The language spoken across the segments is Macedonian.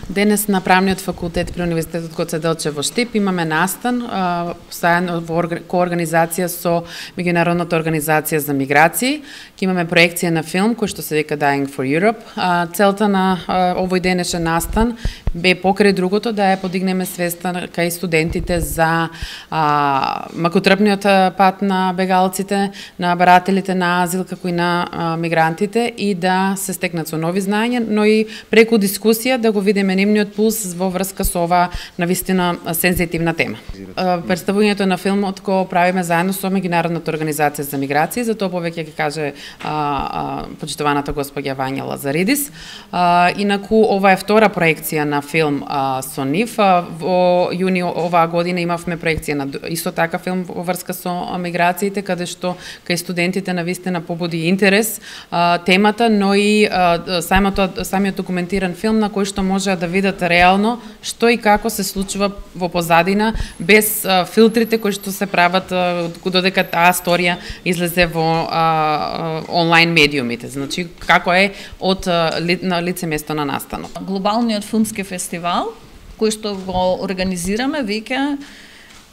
Денес на Правниот факултет при Универзитетот Гоце Делчев во Штип имаме настан заедно во коорганизација со Меѓународната организација за миграции. Ке имаме проекција на филм кој што се вика Dying for Europe. Целта на овој денешен настан бе покрај другото да ја подигнеме свеста кај студентите за макотрпниот пат на бегалците, на барателите на азил, како и на мигрантите и да се стекнат со нови знаења, но и преку дискусија да го видиме нивниот пулс во врска со оваа навистина сензитивна тема. Представувањето на филмот го правиме заедно со Меѓународната организација за миграции, за тоа повеќе ќе каже почитуваната госпоѓа Вања Лазаридис. Инаку ова е втора проекција на филм со нив. Во јуни оваа година имавме проекција на исто така филм во врска со миграциите, каде што кај студентите навистина побуди интерес темата, но и самиот документиран филм на кој што може да видат реално што и како се случува во позадина, без филтрите кои што се прават додека таа сторија излезе во онлайн медиумите. Значи, како е од на лице место на настанот. Глобалниот филмски фестивал, кој што го организираме веќе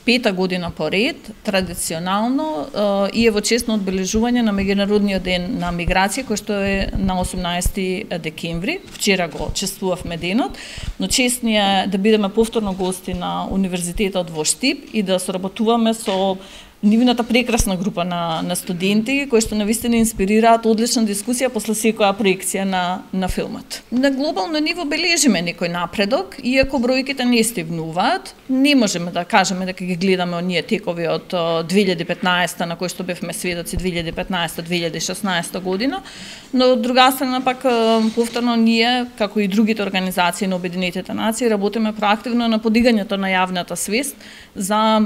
5-та година поред, традиционално, и е во чест на одбележување на Меѓународниот ден на миграција, кој што е на 18 декември. Вчера го чествувавме денот, но чест ни е да бидеме повторно гости на Универзитетот во Штип и да соработуваме со нивната прекрасна група на студенти кои што навистина инспирираат одлична дискусија после секоја проекција на филмот. На глобално ниво бележиме некој напредок, иако бројките не стигнуваат. Не можеме да кажеме дека ги гледаме оние текови од 2015 на кои што бевме сведоци 2015-2016 година, но од друга страна пак повторно ние, како и другите организации на Обединетите нации, работиме проактивно на подигањето на јавната свест за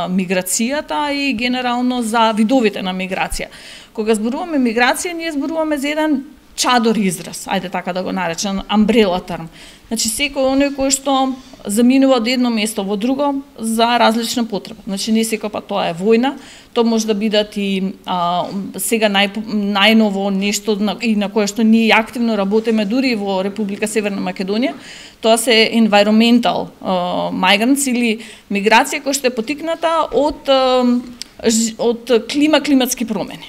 миграцијата и генерално за видовите на миграција. Кога зборуваме миграција, ние зборуваме за еден чадор израз, ајде така да го наречем, umbrella term. Значи, секој оној кој што заминува од едно место во друго за различна потреба. Значи, не секој пат тоа е војна, тоа може да бидат и сега најново нешто и на кое што ние активно работиме дури во Република Северна Македонија, тоа се environmental migrants или миграција која што е потикната од климатски промени.